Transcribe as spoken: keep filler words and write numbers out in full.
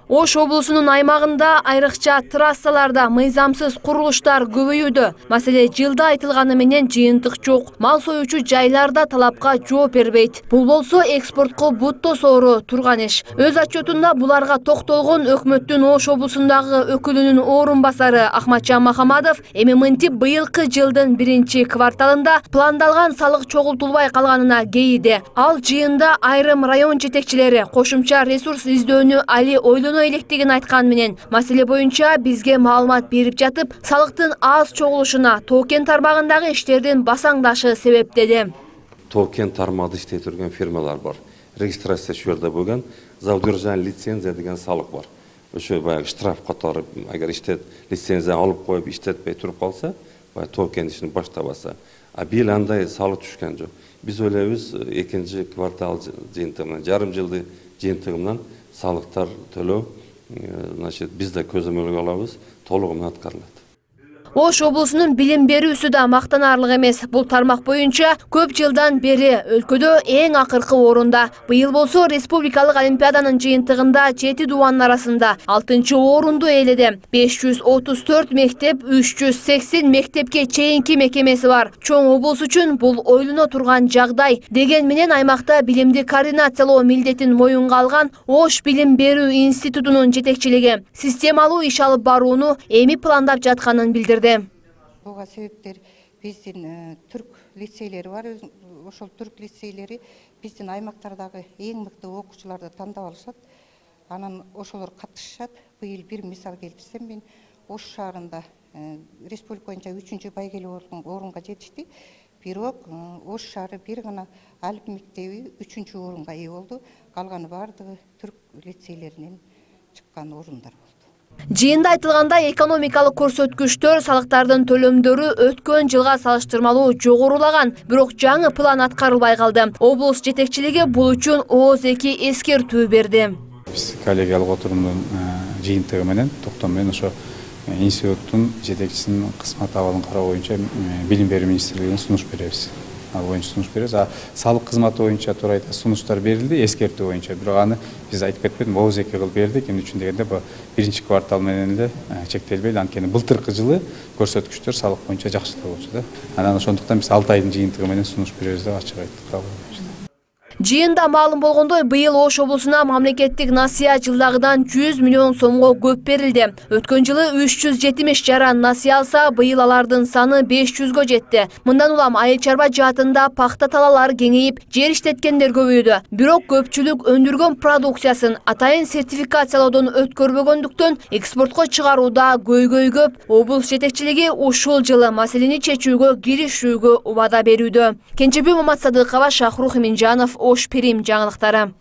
Ош облусунун аймагында айрыкча трассаларда мыйзамсыз курулуштар көбөйүүдө. Маселе жылда айтылганы менен жыйынтык жок. Мал союучу жайларда талапка жооп бербейт. Бул болсо экспортко бут тосоору турган иш. Өз отчетунда буларга токтолгон өкмөттүн Ош облусундагы өкүлүнүн орун басары Ахматжан Махамадов эми мынтип быйылкы жылдын биринчи кварталында пландалган салык чогултулбай калганына кейиди. Ал жыйында айрым район жетекчилери кошумча ресурс издөөнү али ойлоно электигин айткан менен маселе боюнча бизге маалымат берип жатып, салыктын аз чогулушуна Тоо-Кен тармагындагы иштердин басаңдашы себеп деди. Тоо-Кен тармагында иштеп жүргөн фирмалар бар. Регистрация шу жерде болгон, за удержание лицензия деген салык бар. Ошо баягы штраф катары, агар иштет лицензия алып коюп иштетпей туруп калса, баягы Тоо-Кен ишин баштабаса, а бир андай салык түшкөн жок. Биз ойлойбуз экинчи квартал жыйынтыгынан, жарым жылды жыйынтыгынан салыктар төлөө, значит, биз да көзөмөлгө алабыз, толугу менен аткарылат. Ош облусунун билим берүүсү да мактанаарлык эмес. Бул тармак боюнча көп жылдан бери өлкөдө эң акыркы орунда. Быйыл болсо республикалык олимпиаданын жыйынтыгында жети дубанын арасында алтынчы орунду ээледи. беш жүз отуз төрт мектеп, үч жүз сексен мектепке чейинки мекемеси бар. Чоң облус үчүн бул ойлоно турган жагдай. Деген менен аймакта билимди координациялоо милдетин моюнга алган Ош билим берүү институтунун жетекчилиги системалуу иш алып барууну эми пландап жатканын билдирди. Буга себептер биздин түрк лицейлери бар. Ошол түрк лицейлери биздин аймактардагы эң мыкты окуучуларды тандап алышат. Анан ошолор катышышат. Быйыл бир мисал келтирсем, мен Ош шаарында республика боюнча үчүнчү байгелүү орунга жетишти. Бирок Ош шаары бир гана Алып мектеби үчүнчү орунга ээ болду. Калганы бардыгы түрк лицейлеринен чыккан орундар болду. Жыйында айтылгандай, экономикалык көрсөткүчтөр, салыктардын төлөмдөрү өткөн жылга салыштырмалуу жогорулаган, бирок жаңы план аткарылбай калды. Облус жетекчилиги бул үчүн ооз эки эскертүү берди. Биз коллегиялык отурумдун жыйынтыгы менен, токтом менен ошо институттун жетекчисинин кызмат абалын кароо боюнча билим берүү министрлигине сунуш беребиз. Ал боюнча сунуш беребиз. А салык кызматы боюнча туура айта сунуштар берилди, эскертүү боюнча. Бирок аны биз айтып кетпедим, ооз эки кылып бердик. Эмне үчүн дегенде, бу биринчи квартал менен эле чектелбейли. Анткени былтыркы жылы көрсөткүчтөр салык боюнча жакшы болчу да. Анан ошондуктан биз алты айдын жыйынтыгы менен сунуш беребиз деп ачык айттык. Жыйында маалым болгондой, быйыл Ош облусуна мамлекеттик насыя жылдагыдан жүз миллион сомго көп берилди. Өткөн жылы үч жүз жетимиш жаран насыя алса, быйыл алардын саны беш жүзгө жетти. Мындан улам айыл чарба жаатында пахта талалар кеңейип, жер иштеткендер көбөйдү. Бирок көпчүлүк өндүргөн продукциясын атайын сертификациялоодон өткөрбөгөндүктөн экспортко чыгарууда көйгөй көп. Облус жетекчилиги ушул жылы маселени чечүүгө киришүүгө убада берүүдө. Кенжебек Маматсадыкова, Шахрух Минжанов, Ош Перим жаңылыктары.